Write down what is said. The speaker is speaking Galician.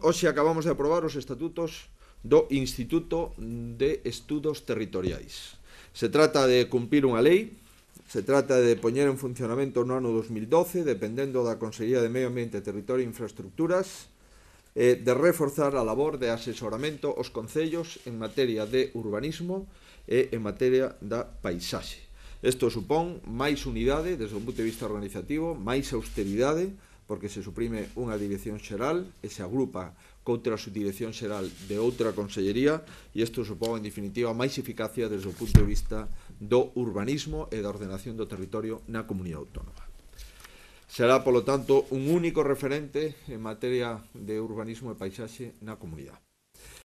Hoxe acabamos de aprobar os estatutos do Instituto de Estudos Territoriais. Se trata de cumprir unha lei, se trata de poñer en funcionamento no ano 2012, dependendo da Consellería de Medio Ambiente, Territorio e Infraestructuras, de reforzar a labor de asesoramento aos concellos en materia de urbanismo e en materia da paisaxe. Isto supón máis unidade desde un punto de vista organizativo, máis austeridade, porque se suprime unha dirección xeral e se agrupa coutra subdirección xeral de outra consellería, e isto supón, en definitiva, máis eficacia desde o punto de vista do urbanismo e da ordenación do territorio na comunidade autónoma. Será, polo tanto, un único referente en materia de urbanismo e paisaxe na comunidade.